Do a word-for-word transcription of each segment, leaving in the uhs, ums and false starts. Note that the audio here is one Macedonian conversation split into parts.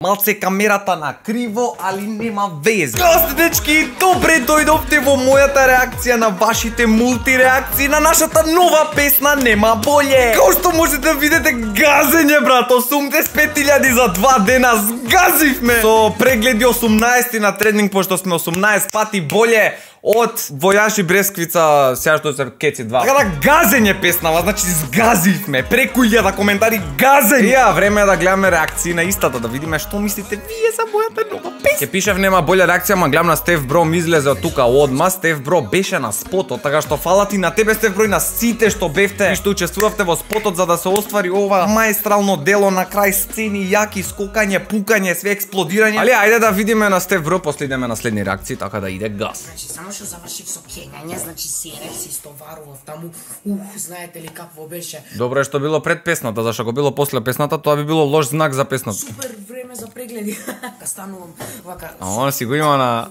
Малце камерата на криво, али нема везе. Гости, дечки, добре дојдовте во мојата реакција на вашите мултиреакции на нашата нова песна Нема боле. Како што можете да видите, газење, брат, осумдесет и пет илјади за два дена, згазивме. Со прегледи осумнаесет на тренинг, пошто сме осумнаесет пати боле од Војаж и Бресквица, сега што се кеци два. Така да газење песнава, значи згазивме, преку илјада коментари, газење. Ја, време е да гледаме реакции на истата, да видиме што мислите вие за мојата нова песна. Ке пишев нема болја реакција, ма гледам на Стеф Бро ми излезе од тука одма. Стеф Бро беше на спотот, така што фала ти на тебе, Стеф Бро, и на сите што бевте и што учествувавте во спотот за да се оствари ова маестрално дело на крај сцени, јаки скокање, пукање, све експлодирање. Али ајде да видиме на Стеф Бро, после идеме на следни реакции, така да иде газ. Значи само што завршив со кењање, значи серев се истоварував таму. Ух, знаете ли какво беше? Добро е што било пред песната, зашто го било после песната, тоа би било лош знак за песната. Супер време за прегледи. Ка станувам вака. А он си го има на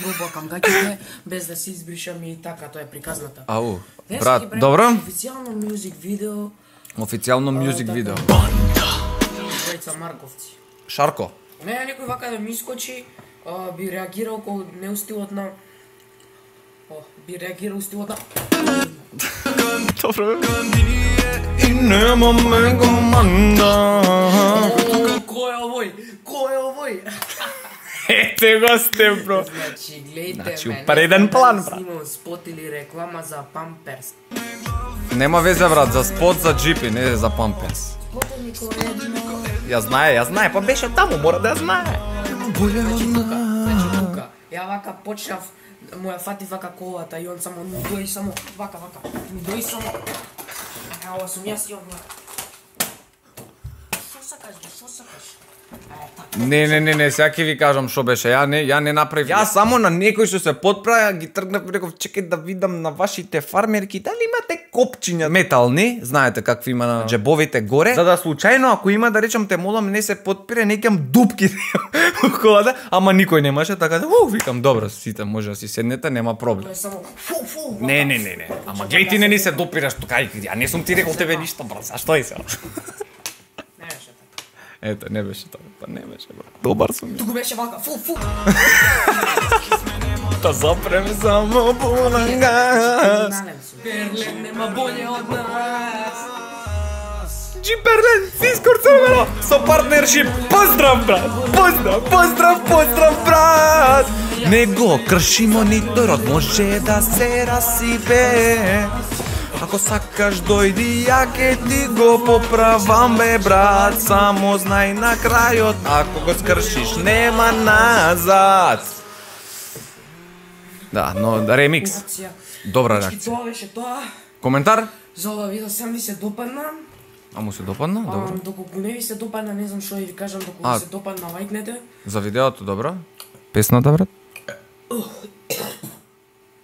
Пробакам гаќите без да се избришам и така, тоа е приказната. Ау, брат, добро? Официјално мюзик видео. Официјално мюзик видео. Двајца Марковци. Шарко. Не, некој вака да ми искочи, би реагирал ко неустилот на би реагирал стилот на Добро. И нема ме команда. Кој е овој? Кој е овој? Ете го сте, бро. Значи, гледайте Значи, ме. преден план, брат. Снимам спот или реклама за Памперс. Нема везе, брат, за спот за джипи, не за памперс. Спотот ми кој едно. Ја знае, ја знае, па беше таму, мора да ја знае. Значи тука, значи тука. Ја вака почнав, моја фати вака колата и он само ми дои само вака вака. Ми дои само. А ова сум јас и он. Шо сакаш, бе, шо сакаш? Не, не, не, не, сега ќе ви кажам што беше. Ја не, ја не направив. Јас само на некој што се подправа ги тргнав и реков чекај да видам на вашите фармерки дали имате копчиња метални, знаете какви има на џебовите горе, за да случајно ако има да речам те молам не се подпире, не ќам дупки во колата, ама никој немаше, така да у викам добро, сите може да си седнете, нема проблем. Тоа е само фу фу. Не, не, не, не. Ама глеј ти не ни се допираш тука, ја не сум ти рекол тебе ништо, брат, зашто и се? Не беше така. Ето, не беше тоа, па не беше, брат. Добар сум. Туку беше вака фу фу. Та запрем само полангас. Берлин нема боле од нас. Джиперлен, Фискор Црвено, со партнершип. Поздрав, брат! Поздрав, поздрав, поздрав, брат! Не го кршимо ни тој род, може да се расипе. Ако сакаш дојди, ја ке ти го поправам, бе, брат. Само знај на крајот, ако го скршиш, нема назад. Да, но ремикс. Добра реакција. Тоа беше тоа. Коментар? За ова видео сам ви се допадна. А му се допадна? Добро. Доколку не ви се допадна, не знам што ви кажам, доколку А. ви се допадна, лајкнете. За видеото, добро. Песната, брат?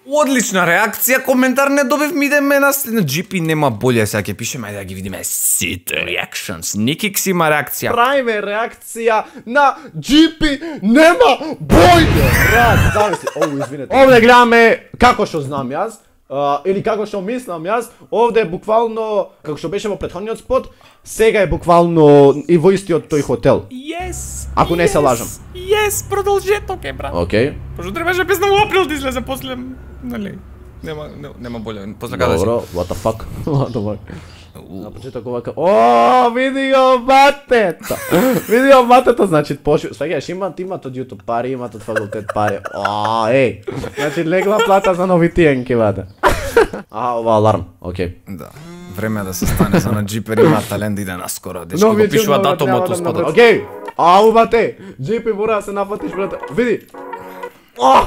Одлична реакција, коментар не добивме, идеме на следна джипи, нема боле, сега ќе пишеме, ајде да ги видиме сите reactions. Никикс има реакција. Правиме реакција на джипи нема бојде. Брат, зависи. Оу, извинете. Овде гледаме како што знам јас. Uh, или како што мислам јас, овде е буквално, како што беше во претходниот спот, сега е буквално и во истиот тој хотел. Yes! Ако не се лажам. Yes, продолжеток е, брат. Окей. Пошто требаше песна во април да излезе после, нали? Нема, нема, нема боле, после каде си? Добро, what the fuck. What the fuck. На почеток овака. О, види го матето. Види го матето, значи пошо. Сваѓаш, имат имат од YouTube пари, имат од факултет пари. О, еј. Значи легла плата за нови тиенки, ваде. А, ова аларм. Окей. Да. Време е да се стане за на джипер, има талент да иде наскоро. Дечки Нови го пишува чудно, датумот няма у да спотот. направи. Окей. Ау, бате. Джипи мора да се нафатиш, брате. Види. О!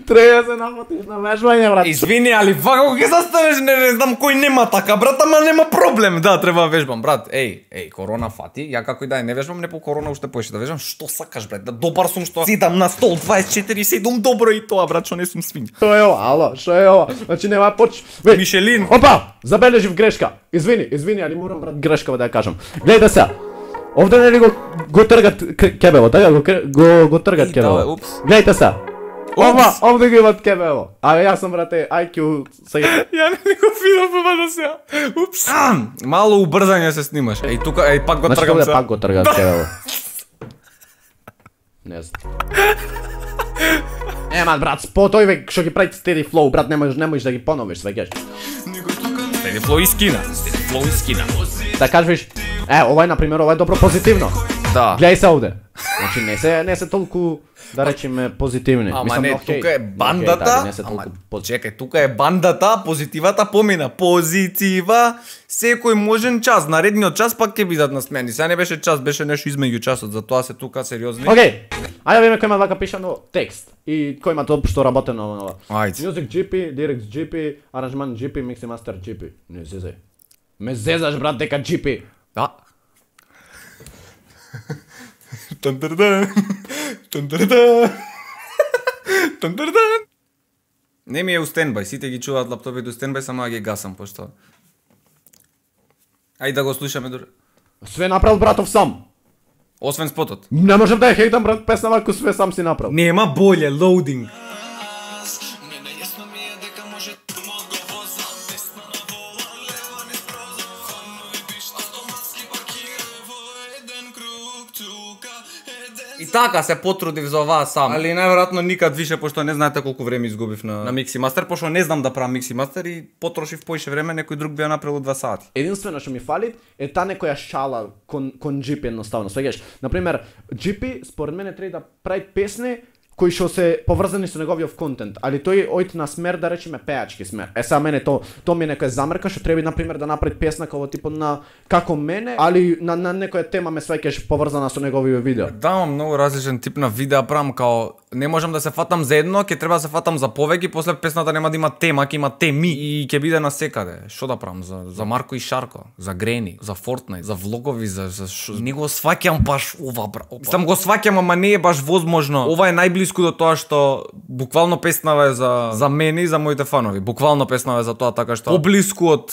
Треба се нафатиш на вежбање, брат. Извини, али вака ќе застанеш, не, не знам кој нема така, брат, ама нема проблем. Да, треба вежбам, брат. Еј, еј, корона фати. Ја како и да не вежбам, не по корона уште поише да вежбам. Што сакаш, брат? Да добар сум што седам на стол дваесет и четири седум, добро и тоа, брат, што не сум свин. Што е ова? Ало, што е ова? Значи нема поч. Веј. Мишелин. Опа, забележив грешка. Извини, извини, али морам, брат, грешка да ја кажам. Гледај се. Овде нели го го тргат кебело, така го го го тргат кебело. Гледајте се. Ова, овде го имат кебело. А јас сум, брате, ай кју сега. Ја не го видов ова до сега. Упс. Мало убрзање се снимаш. Еј тука, еј пак го Значи тргам овде се. пак го тргат кебело. Не знам. Ема, брат, спот овие што ги прави steady flow, брат, не можеш, не можеш да ги поновиш, свеќаш. Steady flow и скина. Steady flow и скина. Да кажеш, е, ова е на пример, ова е добро позитивно. Да. Гледај се овде. Значи не се не се толку да речеме позитивни. Ама Мислам, не, окей. тука е бандата. Окей, да, не се Ама толку поз- чекај, тука е бандата, позитивата помина. Позитива секој можен час, наредниот час пак ќе бидат насмени. Сега не беше час, беше нешто измеѓу часот, затоа се тука сериозни. Окей. Ајде да видиме кој има вака пишано текст и кој има тоа што работено на ова. Ајде. Music джи пи, lyrics джи пи, аранжман джи пи, mix и master джи пи. Не зезај. Ме зезаш, брат, дека джи пи. Да. Тантардан. Тантардан. Тантардан. Не ми е у стендбај, сите ги чуваат лаптопите у стендбај, само ја ги гасам пошто. Ајде да го слушаме дури. Све направил братов сам. Освен спотот. Не можам да ја хейтам, брат, песна вако све сам си направил. Нема боле, лоудинг. И така се потрудив за оваа сам. Али најверојатно никад више, пошто не знаете колку време изгубив на, на микси мастер, пошто не знам да правам микси мастер и потрошив поише време, некој друг би ја направил два сати. Единствено што ми фали е та некоја шала кон кон джи пи едноставно. Свеѓаш, на пример, джи пи според мене треба да прави песни кои што се поврзани со неговиот контент, али тој ојт на смер да речеме пеачки смер. Е сега мене то то ми е некоја замерка што треба на пример да направи песна како типот на како мене, али на на некоја тема ме сваќаш поврзана со неговиот видео. Да, многу различен тип на видеа правам, као не можам да се фатам за едно, ќе треба да се фатам за повеќе, после песната нема да има тема, ќе има теми и ќе биде насекаде. Што да правам за за Марко и Шарко, за Грени, за Fortnite, за влогови, за за шо... Не го сваќам баш ова, бра. Сам го сваќам, ама не е баш возможно. Ова е најблиску до тоа што буквално песнава е за за мене и за моите фанови. Буквално песнава е за тоа, така што поблиску од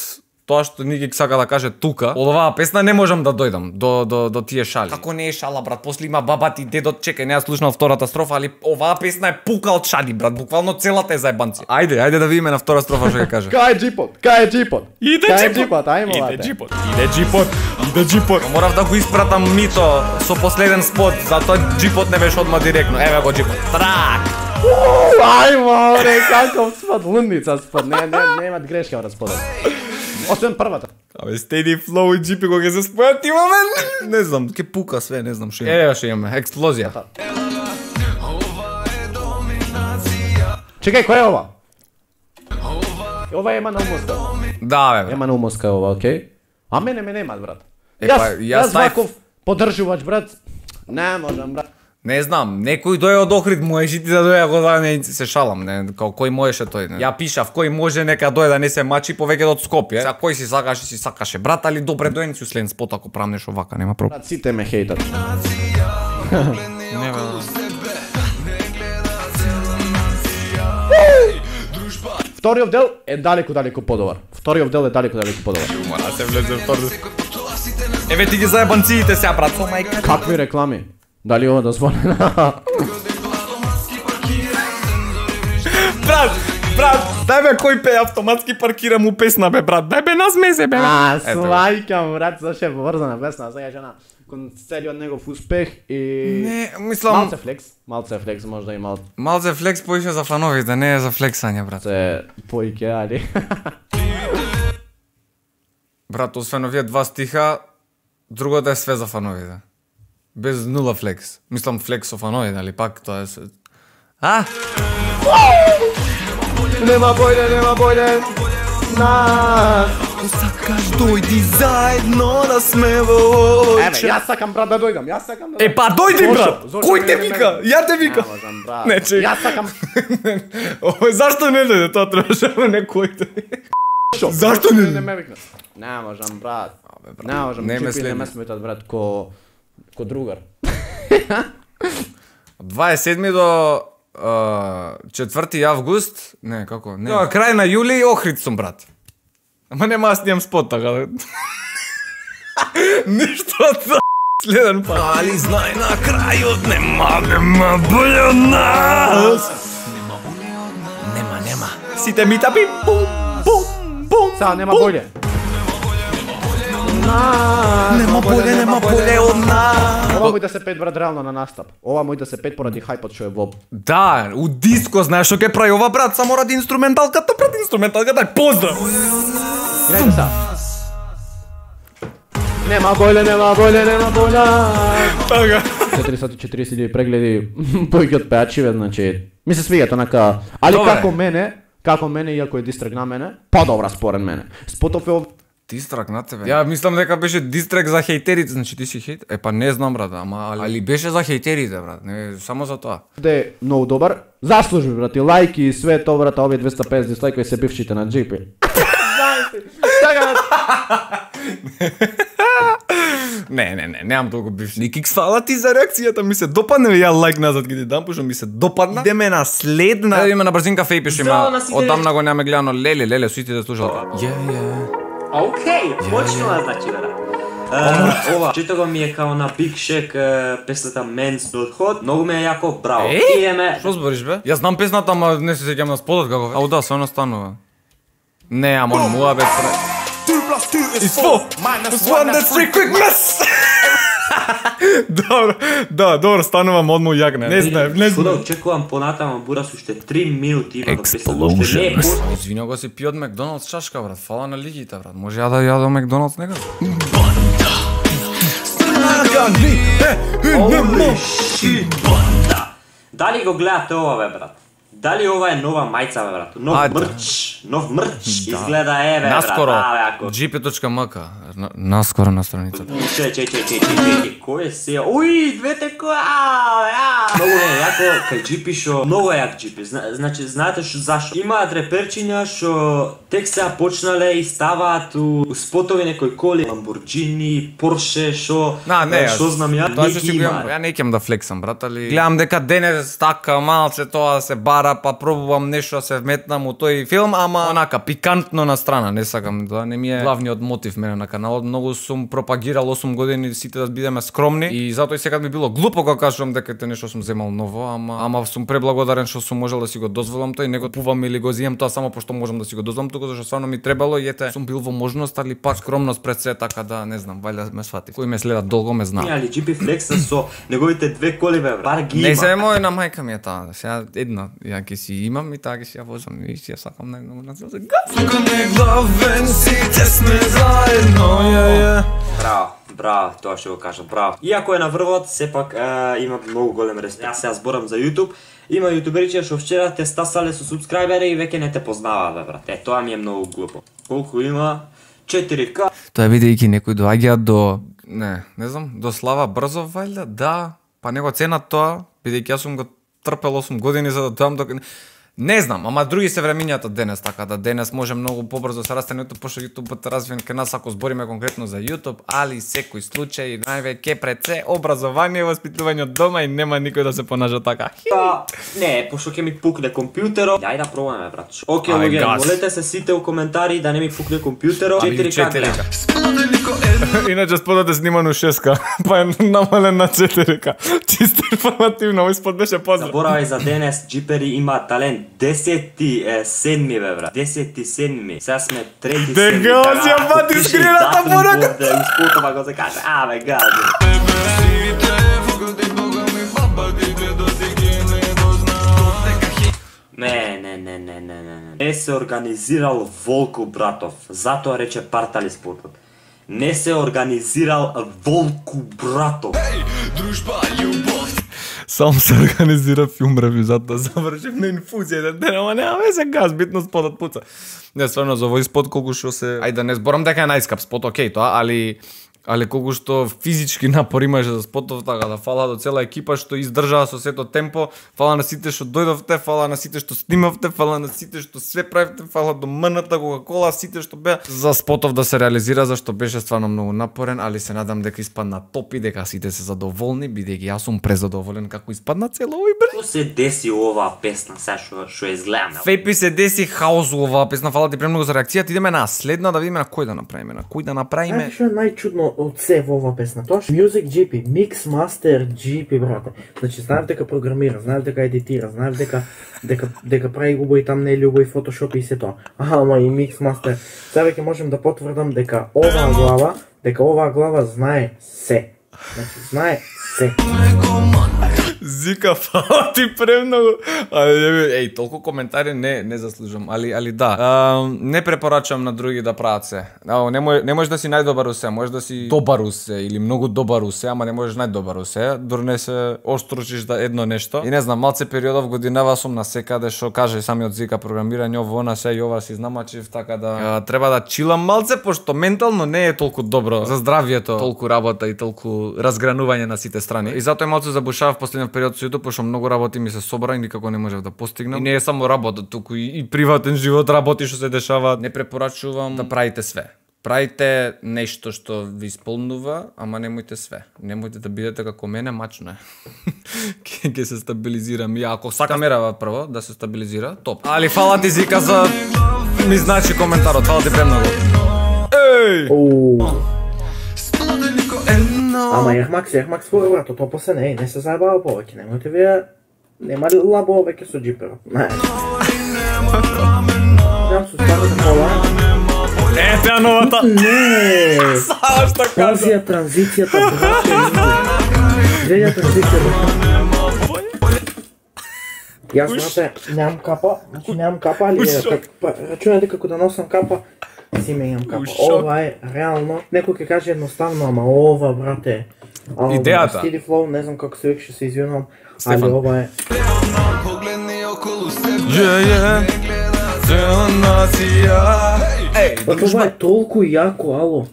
тоа што Ники сака да каже тука, од оваа песна не можам да дојдам до до до тие шали. Како не е шала, брат? После има бабати, дедот, чекај, не ја слушнав втората строфа, али оваа песна е пука од шали, брат. Буквално целата е заебанци. Ајде, ајде да видиме на втора строфа што ќе каже. Кај е джипот? Кај е джипот? Иде Кај е джипот. джипот? Ајмо Иде вате. джипот. Иде джипот. Иде джипот. Морав да го испратам мито со последен спот, затоа джипот не беше одма директно. Еве го джипот. Трак. Ајмо, бре, каков спот, лундица спот. Не, не, немат грешка во спотот. Освен првата. Абе, Steady Flow и джи пи кога ќе се спојат имаме, не знам, ќе пука све, не знам што има. Еве што имаме, експлозија. Чекај, кој е ова? Ова ема на умоска. Да, бе. Ема на умоска ова, окей? А мене ме немат, брат. Е, Јас, па, јас јас тај- ваков поддржувач, брат. Не можам, брат. Не знам, некој дојде од Охрид, можеш ти да дојде го да не се шалам, не, као кој можеше тој, не. Ја пишав кој може нека дојде да не се мачи повеќе од Скопје. Сега кој си сакаше, си сакаше, брат, али добре дојден си услен спот ако правам нешто вака, нема проблем. Брат, сите ме хейтат. Не, бе. Вториот дел е далеку, далеку подобар. Вториот дел е далеку, далеку подобар. Мора се влезе втор. Еве ти ги заебанциите сега, брат, со мајка. Какви реклами? Дали ова дозволено? Брат, брат, дај бе кој пее автоматски паркира му песна бе, брат. Дај бе назмезе бе. А, Ето. свајкам, брат, зашто е поврзана песна, сега жена кон целиот негов успех и Не, мислам, малце флекс, малце флекс можда и малце малце флекс поише за фановите, не е за флексање, брат. поиќе, али. Брат, освен овие два стиха, другото е све за фановите. Без нула флекс. Мислам флекс со фановите, али пак тоа е се... А? Нема бојде, нема бојде. Нас. Сакаш дојди заедно да сме во Еве, јас сакам брат да дојдам, јас сакам да. Е, па дојди, Зошто? брат! Зошто Кој не те ме вика? ме- Ја те вика! Не можам, брат. Не, чек. Јас сакам. Ој, зашто не дојде? Тоа требаше да не кој те. Шо? Зашто не- не ме викна? Не можам, брат. Не можам, не ме джипи не ме следиш. сметат, брат, ко ко другар. Од дваесет и седми до а, четврти август, не, како, не. Тоа, крај на јули Охрид сум, брат. Ама нема да снимам спот, така да. Ништо од следен пат. Али знај на крајот нема, нема боле од нас. Нема, нема. Сите ми тапи, бум, бум, бум. Сега нема боље. нас. Нема боле, нема боле од нас. Ова мој да се пет брат реално на настап. Ова мој да се пет поради хајпот што е во. Да, у диско знаеш што ќе прави ова брат, само ради инструменталката, пред инструменталката, поздрав. Играјте са. Нема боле, нема боле, нема боле. Така. четиристотини и четиридесет илјади прегледи повеќе од пеачиве, значи ми се свиѓа онака, али Добре. како мене, како мене иако е дистрак на мене, подобра според мене. Спотов е ов- Дистрак на тебе. Ја мислам дека беше дистрак за хејтерите, значи ти си хејт. Е па не знам брат, ама али, али беше за хејтерите брат, не само за тоа. де многу добар. Заслужби брати, лајки и све тоа брат, овие двеста и педесет дислајкови се бившите на джипи. Не, не, не, немам толку бивши. Никик фала ти за реакцијата, ми се допадна, ја лайк назад ги ти дам, пошто ми се допадна. Идеме на следна. Да идеме на брзинка фејпиш Здраво има. на сите. Одамна го немаме гледано леле, леле, сите слушалка. Ја, ја. Океј, почнува значи бе. Е, ова, читаго ми е као на Big Shack е, песната Men's Blood Hot, многу ме е јако, браво. Е? Идеме. Што збориш бе? Јас знам песната, ама не се сеќам на спотот како. Ау да, свено станува. Не, ама он муа бе пре. It's four, minus one, that's three, quick miss! Добро, да, добро, станувам одмо јак, не, не знаев, не Кога знаев. очекувам понатаму бурас уште три минути има до песната. Уште не е пуст. Извини го си пи од Макдоналдс чашка, брат, фала на лигите, брат. Може ја да ја до Макдоналдс некаде? Holy shit, банда. Дали го гледате ова бе брат? Дали ова е нова мајца бе брат? Нов Ајде. мрч, нов мрч. Изгледа е бе брат. Наскоро, А, бе, ако- джи пи точка ем ка, на- наскоро на страницата. Чеј, чеј, чеј, чеј, чеј, чеј, кој е се? Уи, двете која, ја. Многу е јако, кај джипи шо, многу е јак джипи. Зна- Значи, знаете шо зашо? Имаат реперчиња шо тек сега почнале и ставаат у, у спотови некои коли, Lamborghini, Porsche, шо, На, не, е, јас- шо знам ја, Тоа не што ги си го имаат. имам, ја не ќам да флексам, брат, али гледам дека денес така малце тоа се бара, па пробувам нешто да се вметнам у тој филм, ама онака пикантно на страна, не сакам, тоа не ми е главниот мотив мене на каналот. Многу сум пропагирал осум години сите да бидеме скромни и затоа и сега би било глупо кога кажувам дека те нешто сум земал ново, ама ама сум преблагодарен што сум можел да си го дозволам тоа и не го пувам или го земам тоа само пошто можам да си го дозволам, туку зашто стварно ми требало и ете сум бил во можност, али пак скромност пред се, така да не знам, вајде ме свати. Кој ме следат долго ме знае. Али джипи флекса со неговите две коли бе, брат. Бар ги Не има. се мој на мајка ми е таа. Сега една ја ќе си имам и таа ќе си ја возам и си ја сакам најмногу на целта. Тука не главен сите сме заедно. Ја ја. Браво, браво, тоа што го кажа, браво. Иако е на врвот, сепак е, има многу голем респект. Јас сега зборам за YouTube. Има јутуберичи што вчера те стасале со субскрајбери и веќе не те познаваат, бе, брат. Е, тоа ми е многу глупо. Колку има? четири ка. Тоа бидејќи некои доаѓаат до не, не знам, до слава брзо вајда, да, па не го ценат тоа, бидејќи јас сум го трпел осум години за да доам до не знам, ама други се времињата денес, така да денес може многу побрзо се расте YouTube, пошто YouTube е развиен кај нас ако збориме конкретно за YouTube, али секој случај највеќе пред се образование и воспитување од дома и нема никој да се понажа така. Па, не, пошто ќе ми пукне компјутерот. Јај да пробаме, брат. Океј, Ај, луѓе, газ. молете се сите у коментари да не ми пукне компјутерот. четири ка гледам. Иначе спотот е снимано шест ка, па е намален на четири ка. Чисто информативно, овој спот беше поздрав. Заборавај за денес, джипери има талент. десети е, седми, бе, брат. десети седми. Сега сме трети Дека седми. си ја вати скрината порака. Да, успотова го се каже. А, бе, гази. Не, не, не, не, не, не, не. Не се организирал Волку Братов. Затоа рече партали спортот. Не се организирал Волку Братов. Сам се организира филм ревизат да завршим на инфузија ден, ама нема везе газ, битно спотот пуца. Не, стварно за овој спот колку што се, ајде да не зборам дека е најскап спот, окей тоа, али али колку што физички напор имаше за спотов, така да фала до цела екипа што издржаа со сето темпо, фала на сите што дојдовте, фала на сите што снимавте, фала на сите што све правите, фала до МН-та, Кока-кола, сите што беа за спотов да се реализира, зашто беше стварно многу напорен, али се надам дека испадна топ и дека сите се задоволни, бидејќи јас сум презадоволен како испадна цело овој брат. Што се деси оваа песна, сега што што е изгледаме? Фепи се деси хаос у оваа песна, фала ти премногу за реакцијата, идеме на следна да видиме на кој да направиме, на кој да направиме. Што е најчудно, од се во оваа песна. Тоа што Music джи пи, Mix Master джи пи, брате. Значи знаев дека програмира, знаев дека едитира, знаев дека дека дека прави убави там не убави Photoshop и се тоа. Аха, ама и Mix Master. Сега веќе можам да потврдам дека оваа глава, дека оваа глава знае се. Значи знае се. Зика, фала ти премногу. Еј, толку коментари не не заслужувам, али али да. А, не препорачувам на други да прават се. А, не може не можеш да си најдобар у се, можеш да си добар у се или многу добар у се, ама не можеш најдобар у се. Дур не се остручиш да едно нешто. И не знам, малце периодов годинава сум на секаде што каже самиот Зика програмирање, ово на се и ова си знамачив, така да а, треба да чилам малце пошто ментално не е толку добро за здравјето, толку работа и толку разгранување на сите страни. И затоа малце забушав последниот период со YouTube, пошто многу работи ми се собра и никако не можев да постигнам. И не е само работа, туку и, и приватен живот, работи што се дешаваат. Не препорачувам да правите све. Правите нешто што ви исполнува, ама немојте све. Немојте да бидете како мене, мачно е. Ке се стабилизирам. И ако сака мерава прво да се стабилизира, топ. Али фала ти Зика за ми значи коментарот, фала ти премногу. Еј! Ама Ермакс, Ермакс според брато, тоа после не, не се заебава повеќе, немојте вие, нема лабо веќе со джиперот, не. Јам со старата кола. Е, теа новата! Не! Сава што кажа! Пазија транзицијата, брате, гледа транзицијата. Јас, брате, немам капа, значи немам капа, али рачунајте како да носам капа, си менјам капа. Ова е реално, некој ќе каже едноставно, ама ова, брате, идејата. Стили флоу, не знам како се викаше, се извинувам, али ова е. Ова е толку јако, ало.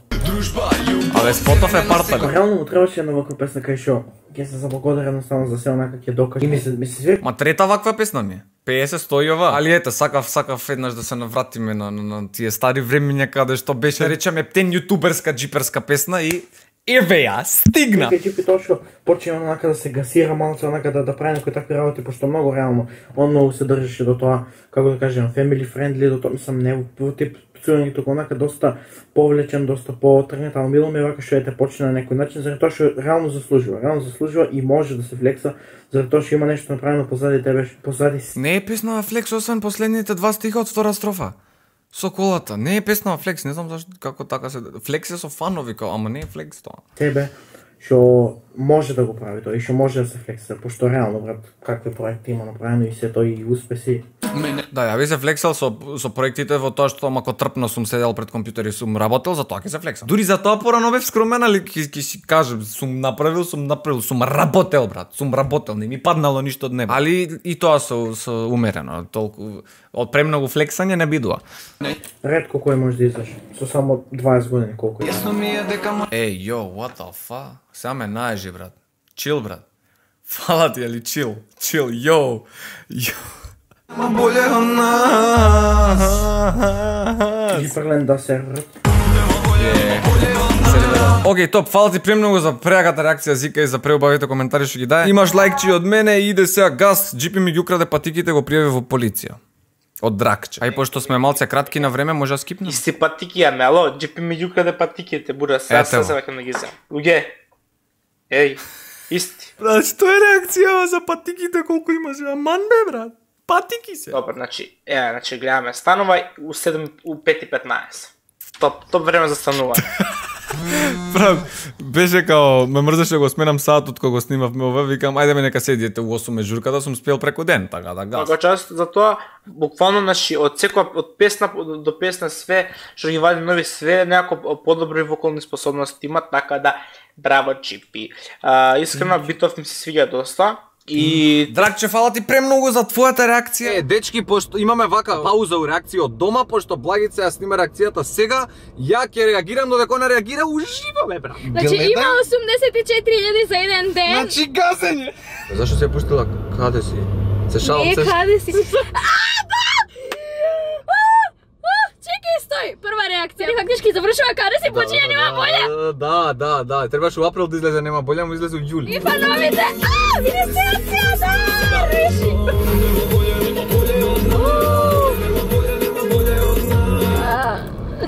Абе, Спотов е парта. Реално му требаше една ваква песна кај шо. Ќе се заблагодарам едноставно за се онака ќе докажа. И ми се ми се све. Ма трета ваква песна ми е. пеесет стои ова. Али ете, сакав сакав еднаш да се навратиме на на, на тие стари времиња каде што беше речеме птен јутуберска джиперска песна и еве ја, стигна. Кај джипи точно почина онака да се гасира малце, онака да да прави некои такви работи, пошто многу реално он многу се држеше до тоа, како да кажем, family friendly, до тоа мислам не во тип пцување тука онака доста повлечен, доста поотргнат, ама мило ми е вака што ете почина на некој начин, заради тоа што реално заслужува, реално заслужува и може да се флекса, заради тоа што има нешто направено позади тебе, позади. Не е песна флекс освен последните два стиха од втора строфа. Со колата, не е песна флекс, не знам зашто како така се флекс е со фанови, ама не е флекс тоа. Тебе што може да го прави тоа и што може да се флексира, пошто реално брат, какви проекти има направено и се тој и успеси. Да, ја би се флексал со со проектите во тоа што мако трпно сум седел пред компјутер и сум работел, за тоа ќе се флексам. Дури за тоа порано бев скромен, али ќе ќе си кажам, сум направил, сум направил, сум работел брат, сум работел, не ми паднало ништо од небо. Али и тоа со со умерено, толку од премногу флексање не бидува. Ретко кој може да излезе, со само дваесет години колку е. Еј, йо, what the fuck? Сега ме наежи, брат. Чил, брат. Фала ти, али чил. Чил, йо. Йо. Ма боле она. Ги фрлен да серверот. Океј, топ, фала ти премногу за прејаката реакција Зика и за преубавите коментари што ги даде. Имаш лајкчи од мене и иде сега газ, джипи ми ги украде патиките, го пријави во полиција. Од Дракче. Ај пошто сме малце кратки на време, може да скипнем. Исти патики ја мело, джипи ми ги украде патиките, бура, сега се сакам да ги земам. Луѓе. Еј, исти. Брат, што е реакција за патиките колку имаш? Аман бе, брат. Патики се. Добар, значи, е, значи гледаме, станува у седум у пет и петнаесет. Топ, топ време за станување. Брат, беше као, ме мрзеше го сменам сатот кога го снимавме ова, викам ајде ме нека седите у осум журката, сум спел преку ден, така да гас. Така част за тоа буквално значи од секоја од песна до песна све што ги вади нови све некако подобри вокални способности има, така да браво Чипи. А, искрено битов ми се свиѓа доста. И Дракче, фала ти премногу за твојата реакција. Е, дечки, пошто имаме вака пауза у реакција од дома, пошто Благица ја снима реакцијата сега, ја ќе реагирам додека она реагира уживо бе, брат. Значи има осумдесет и четири илјади за еден ден. Значи газење. Зашто се пуштила? Каде си? Се шалам, се. Не, каде си? Чекај, стој, прва реакција. Фактички завршува каде си почиња нема болја. Да, да, да, требаше у април да излезе нема болја, му излезе у јули. И фановите, а, инвестиција, да, реши.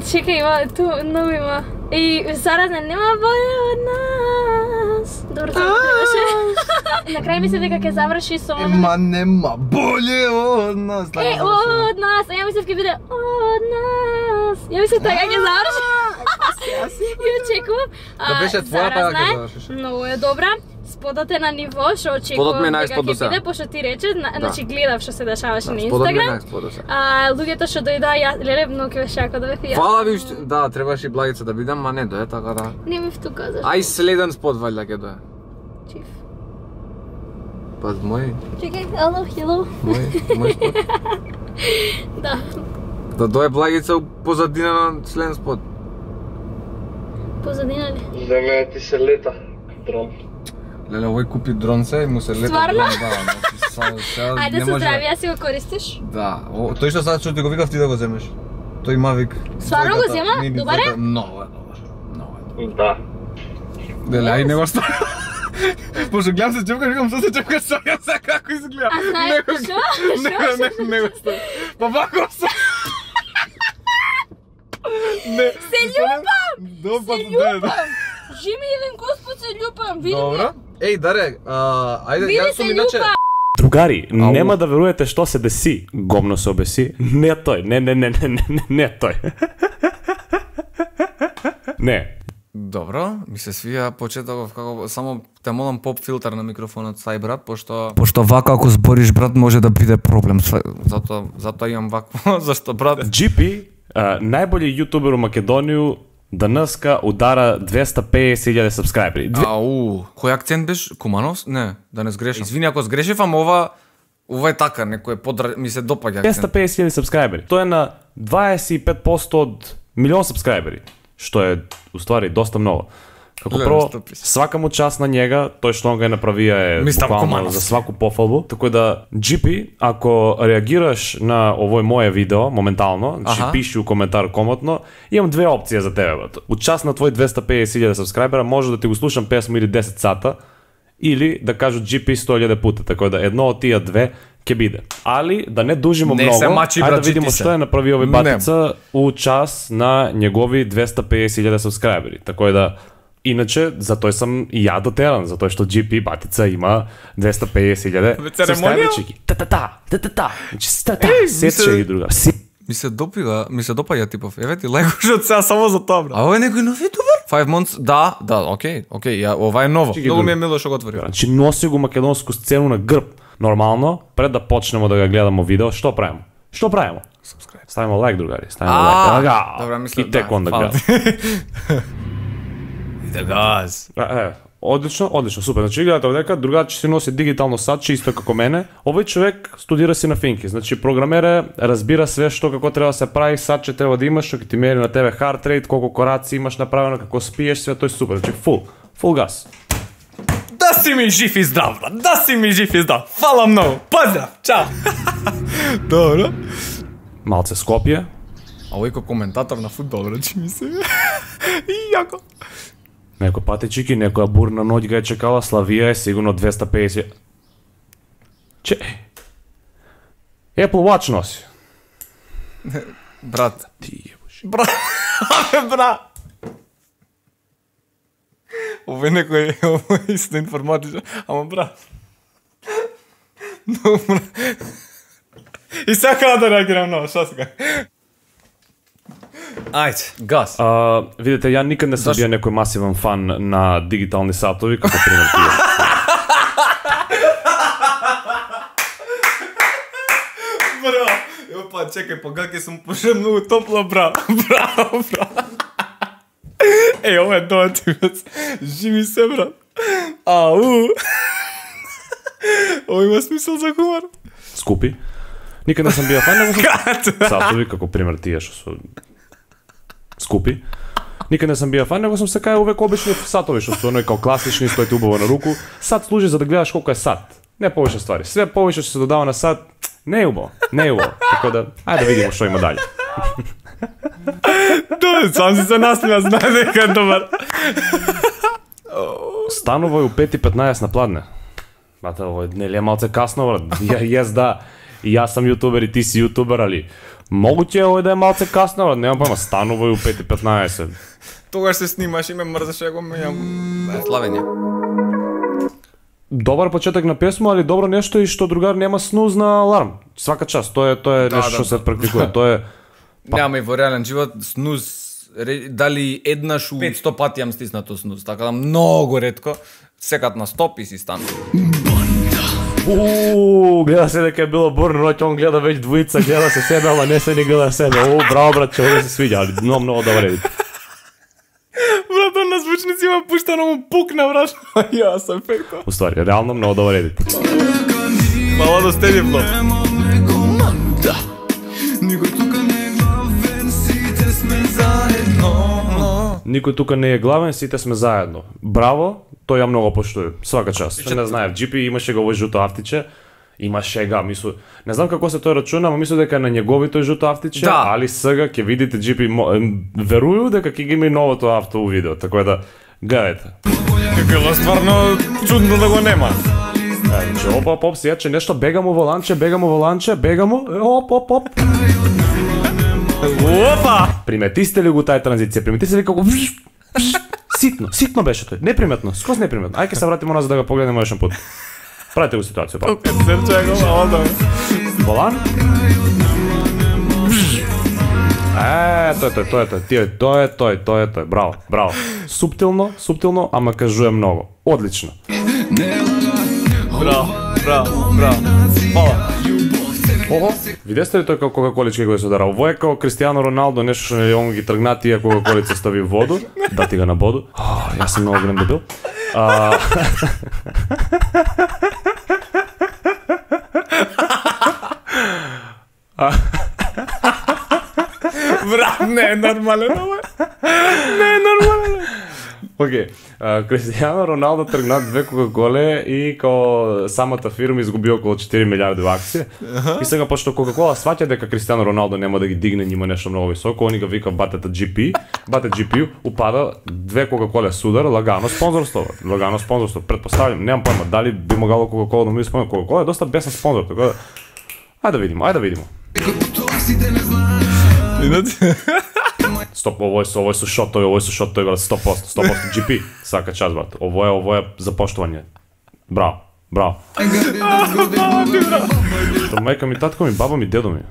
Чекај, има, ту, нови има. И заразна нема боле од нас. Добро се требаше. На крај мислев дека ќе заврши со она. Ема нема боле од нас. Е, од нас. А ја мислев ќе биде од нас. Ја мислев така ќе заврши. Ја очекувам. Да беше твојата ја ќе завршиш. Многу е добра. Сподот е на ниво, што очекувам дека ќе биде, пошто ти рече, значи гледав што се дешаваше на Инстаграм. А луѓето што дојдоа, ја леле многу ќе беше јако да бев ја. Фала ви, да, требаше Благица да бидам, ма не дое, така да. Не ми втука зашто. Ај следен спот валја ќе дое. Чиф. Па мој. Чекај, ало, хело. Мој, мој спот. Да. Да дое Благица у позадина на следен спот. Позадина ли? Леле, ти се лета, дрон. Леле, овој купи дрон се и му се лета. Стварно? Да, значи сега Ајде со здравје, ја си го користиш? Да, о, тој што сега што ти го викав ти да го земеш. Тој Mavic. Стварно го зема? Добар е? Много е добар. Много е добар. Да. Леле, ај не го ставам. Пошто гледам се чепка, викам што се чепка, сега сега како изгледа. А знаеш што? Не, не, не го ставам. Па вако се. Не. Се љубам! Добар, Се љубам! Жими еден Господ се љубам, види Добро. ме. Еј, Даре, а, ајде, Види јас се сум иначе... љубам! Другари, Ау. нема да верувате што се деси. Гомно се обеси. Не тој, не, не, не, не, не, не тој. Не. Добро, ми се свија почетоков како само те молам поп филтер на микрофонот стај брат, пошто пошто вака ако збориш брат може да биде проблем. Затоа затоа имам вакво, зашто брат Джи Пи, а, најбољи јутубер у Македонија, денеска удара двеста педесет илјади сабскрајбери. Ау, кој акцент беше? Куманов? Не, да не сгрешам. Извини ако сгрешив, ама ова ова е така, некој подра... ми се допаѓа двеста акцент. педесет илјади сабскрајбери. Тоа е на дваесет и пет проценти од милион сабскрајбери, што е уствари доста многу. Како Леле, прво, стопи се. свака му част на njega, тој што он го е направија е Мистер буквално Куманов. за сваку пофалбу. Така да, Джи Пи, ако реагираш на овој моје видео моментално, значи Аха. пиши у коментар комотно, имам две опции за тебе, брат. У част на твој двеста педесет илјади сабскрајбера може да ти го слушам песмо или десет сата, или да кажу Джи Пи сто илјади пута, така да едно од тие две ќе биде. Али да не дужимо Не многу, се мачи, ајде брат, да видиме чити се. што е направи овој Не. батица у час на негови двеста педесет илјади сабскрајбери. Така да иначе за тој сам и ја дотеран, затоа што Джи Пи батица има двеста педесет илјади церемонија? сабскрајбери. Та-та-та, та-та-та. Значи ста-та, Еј, сече ми и друга. Си Ми се допига, ми се допаѓа типов. Еве ти лајкош од сега само за тоа, брат. А ова е некој нов ютубер? five months, да, да, окей, окей, ја, ова е ново. Чеки, Многу ми друг. е мило што го отвори. Значи носи го македонску сцену на грб. Нормално, пред да почнеме да го гледаме видео, што правиме? Што правиме? Subscribe. Ставиме лайк, другари, ставиме А, лайк. Ага. добра, мислам, И тек да, онда фала гледа. Иде газ. Е, е, одлично, одлично, супер. Значи гледате овдека, другачи си носи дигитално садче исто како мене. Овој човек студира си на финки. Значи програмера разбира све што како треба да се прави, садче треба да имаш, што ќе ти мери на тебе heart rate, колку кораци имаш направено, како спиеш, све тоа е супер. Значи фул, фул газ. Да си ми жив и здрав, брат. Да си ми жив и здрав. Фала многу. Поздрав. Чао. Добро. Малце Скопје. А овој ко коментатор на фудбал, брат, ми се. И јако. Некој патечики, некоја бурна ноќ га е чекала, Славија е сигурно двеста педесет. Че? Apple Watch носи. Брат. Ти ебош. Брат. Абе, брат. Овој некој, овој исто информатичен, ама брат. Но, брат. И сега да реагирам ново, шо сега? Ајде, газ. А, видите, ја никад не сум Зашто? бил некој масивен фан на дигитални сатови, како пример тие. Браво. Ево па, чекај, па гаке сум пошел многу топло, браво. Браво, браво. Еј, ова е доативец. Жими се, брат. Ау. Ова има смисол за хумор. Скупи. Никад не сум бил фан, него сум Кат. сатови, како пример тие што се скупи. Никад не сум бил фан, него сум се кај увек обични сатови, што се оној као класични, стоите убаво на руку. Сат служи за да гледаш колку е сат. Не повеќе ствари. Све повеќе што се додава на сат, не е убаво, не е убаво. Така да, ајде да видиме што има дале. Да, сам си се насмеа, знае дека е добар. Станува и у пет и петнаесет на пладне. Бате, ово е нели е малце касно, брат. Ја, јес да, и јас сам јутубер и ти си јутубер, али Могуќе е да е малце касно, нема појма, станува и у пет и петнаесет. Тогаш се снимаш и ме мрзаше го мењам. Славење. Добар почеток на песма, али добро нешто и што другар нема снуз на аларм. Свака час, тоа е тоа е нешто што се практикува, тоа е Нема и во реален живот снуз дали еднаш у сто пати јам стиснато снуз, така да многу ретко секад на стоп и си стан. Ууу, гледа се дека е било бурно ноќ, он гледа веќе двојица, гледа се себе, ама не се ни гледа себе. Уу, браво брат, ќе да се свиѓа, али многу многу добар едит. Брат, он на звучници има пуштано му пукна, брат. Ја сам ефектно. Уствари, реално многу добар едит. Мало да стеди влог. Никој тука не е главен, сите сме заедно. Браво, тој ја многу поштуjem. Свака час. Што не знаев, Джи Пи имаше го овој жуто автиче, има шега, мислу. Не знам како се тој рачуна, ама мислу дека на негови тој жуто автиче, да. Али сега ќе видите Джи Пи веруju дека ќе ги има и новото авто у видео, така да гледајте. Како стварно чудно да го нема. Значи, оп, оп, оп, сега че нешто бега му во ланче, бега му во ланче, бега му, оп, оп, оп. Опа! Приметисте ли го тај транзиција? Приметисте ли како ситно, ситно беше тој, неприметно, скоз неприметно. Ајде се вратиме назад да го погледнеме еден пат. Правите го ситуација, па. Окей, серче го мало. Волан? Е, тој, тој, тој, тој, тој, тој, тој, тој, тој, браво, браво. Суптилно, суптилно, ама кажуе многу. Одлично. Браво, браво, браво. Фала. Ого, видесте ли тој како Кока-колички го е содара? Ово е како Кристијано Роналдо, нешто што не он ги тргна тие Кока-колица стави воду, дати га на боду. О, јас сум многу голем дебил. А... Брат, не е нормален ова. Не е нормален. Океј, Кристијано Роналдо тргна две Кока-коле и као самата фирма изгуби околу четири милиарди во акција. И сега пошто Кока-кола сваќа дека Кристијано Роналдо нема да ги дигне нима нешто многу високо, они га вика батета Джи Пи, бате Джи Пи упада две Кока-коле судар, лагано спонзорство, лагано спонзорство. Претпоставljam, немам појма дали би могало Кока-кола да му исполни. Кока-кола е доста бесен спонзор, така да ајде да видиме, ајде да видиме. Стоп, овој со овој со шотови, овој со шотови, брат, сто проценти, сто проценти Джи Пи, сака час, брат. Ово е, ово е за поштовање. Браво, браво. Што мајка ми, татко ми, баба ми, дедо ми.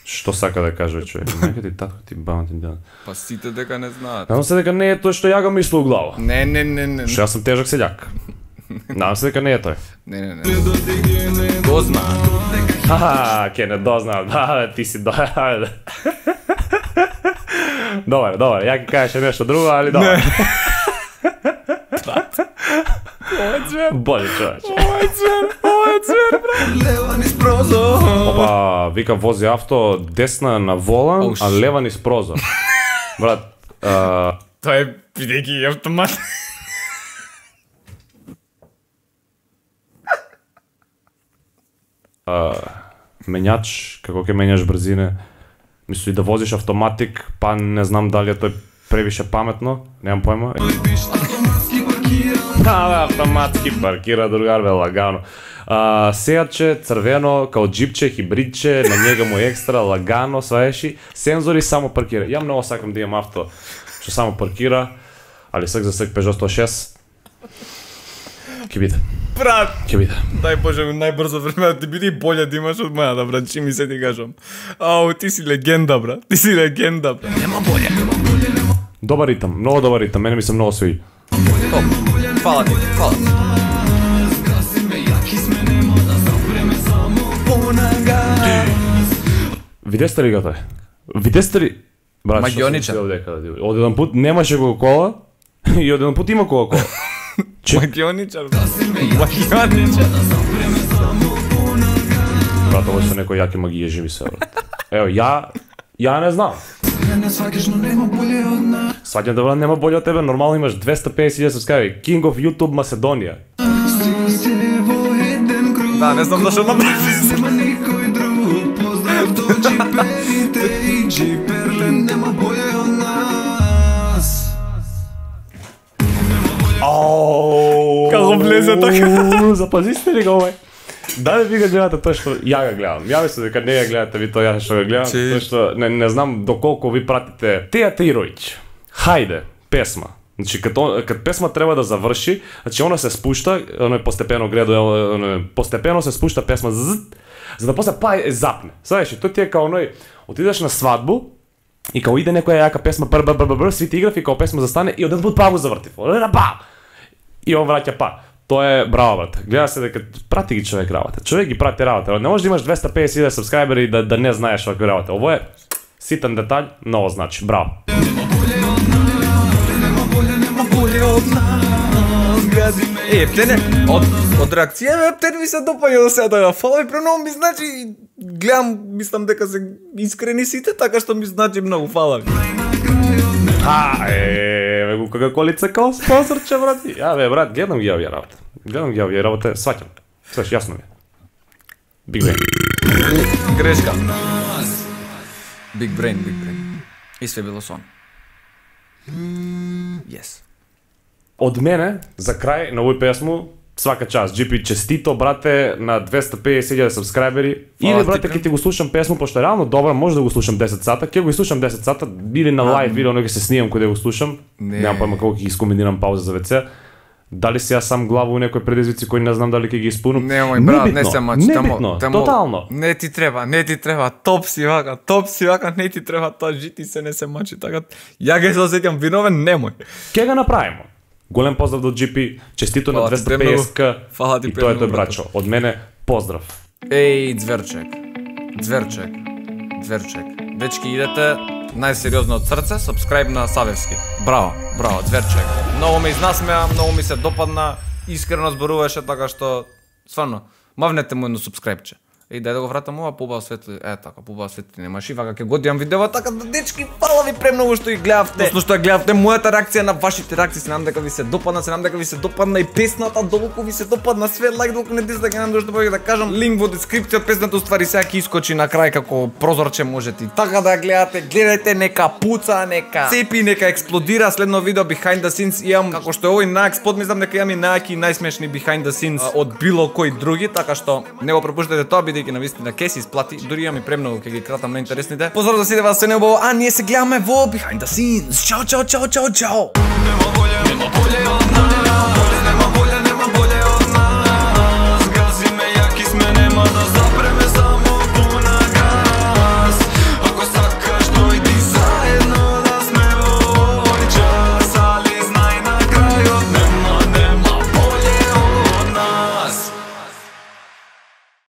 Што сака да каже човек? Мајка ти, татко ти, баба ти, дедо. Па сите дека не знаат. Надам се дека не е тој што ја го мислил у глава. Не, не, не, не. Што јас сум тежак селјак. Надам се дека не е тој. Не, не, не. Дознаат. Ха, ке не дознаат. Да, ти си до... Добар, добар, ја ќе кажеше нешто друго, али добар. Ова е звер. Боли човече. Ова е звер, ова е звер, брат. Лева низ прозор. Опа, вика вози авто десна на волан, Оуш. а лева низ прозор. Брат, а... Тоа е бидејќи автомат. а, менјач, како ќе менјаш брзине, мисли да возиш автоматик, па не знам дали е тој превише паметно, немам појма. Да, да, автоматски паркира другар, бе, лагано. А, сејаче, црвено, као джипче, хибридче, на njega му екстра, лагано, сваеши, сензори, само паркира. Ја многу сакам да имам авто што само паркира, али сак за сак Peugeot сто и шест. Ке биде. Брат, Ке биде. дај Боже, најбрзо време да ти биде и боле да имаш од мојата, брат, чи ми се ти кажам. Ау, ти си легенда, брат, ти си легенда, брат. Нема боле. Добар ритам, многу добар ритам, мене ми се многу свиѓа. Топ. Фала ти, фала ти. Видесте ли го тој? Видесте ли? Брат, Магионичар. Од еден пут немаше Кока-кола и од еден пут има Кока-кола. Магионичар, магионичар. Брат, овој со некој јаки магија живи се, брат. Ево, ја, ја не знам. Сваќам да, брат, нема боле од тебе, нормално имаш двеста педесет илјади сабскрајбери. King of YouTube Macedonија. Да, не знам зашто направи. Како влезе така? Запазисте ли го овој? Дали ви го гледате тоа што ја го гледам? Ја мислам дека не ја гледате ви тоа ја што го гледам, тоа што не, не знам доколку ви пратите Теја Тејроvić. Хајде, песма. Значи кога кога песма треба да заврши, значи она се спушта, она постепено гредува, она постепено се спушта песма з, за да после па е запне. Знаеш, тоа ти е као оној отидеш на свадбу и као иде некоја јака песма бр бр бр бр свити играв и као песма застане и одеднапред па го заврти. Па. И он враќа па. Тоа е браво, брат. Гледа се дека прати ги човек работа. Човек ги прати работа. Не можеш да имаш двеста педесет илјади сабскрајбери и да, да не знаеш вакви работа. Ово е ситен детаљ, ново значи. Браво. Е, Ептене, од, од реакција на Ептен ми се допаѓа до сега да фала и преномно ми значи, гледам, мислам дека се искрени сите, така што ми значи многу, фала ви. А, е, го како лице као спонсорче, брат. Ја бе, брат, гледам ги овие работа. Гледам ги овие работа, сваќам. Свеш, јасно ми е. Big brain. Грешка. Big brain, big brain. И све било сон. Yes. Од мене, за крај на овој песму, свака час. джи пи, честито, брате, на двеста педесет илјади сабскрајбери. Или, брате, ќе ти го слушам песму, пошто е реално добра, може да го слушам десет сата, ќе го слушам десет сата, или на лайв видео, но ќе се снимам кога да го слушам. Немам појма колку ќе ги скомбинирам пауза за вц. Дали си јас сам глава у некој предизвици кои не знам дали ќе ги испунам. Немој, брат, не се мачи, тамо, тотално. Не ти треба, не ти треба, топ си вака, топ си вака, не ти треба тоа, жити се не се мачи, така. Ја ги се осеќам виновен, немој. Ке го направиме. Голем поздрав до джи пи, честито на двеста педесет ка и тоа е тој брачо. Од мене, поздрав. Еј, Зверчек, Зверчек, Зверчек. Дечки, идете најсериозно од срце, сабскрајб на Савевски. Браво, браво, Зверчек. Многу ме изнасмеа, многу ми се допадна, искрено зборуваше, така што, стварно, мавнете му едно сабскрајбче. Еј, дај да го вратам ова, побава светли, е така, побава светли, немаш и вака ќе го дијам видео, така да дечки, фала ви премногу што ги гледавте. Осно што ја гледавте мојата реакција на вашите реакции, се надам дека ви се допадна, се надам дека ви се допадна и песната, долку ви се допадна све, лайк, долку не дизлайк, не надам што повеќе да кажам, линк во дескрипција од песната, уствари сега ќе искочи на крај како прозорче, можете и така да ја гледате, гледајте, нека пуца, нека цепи, нека експлодира, следно видео behind the scenes имам, како што е овој најекспод, мислам дека имам и најаки и најсмешни behind the scenes од било кој други, така што не го пропуштете тоа, бидејќи навистина ке се исплати, дури имам и премногу ќе ги кратам на интересните. Поздрав за сите вас, се не убаво, а ние се гледаме во behind the scenes. Чао, чао, чао, чао, чао.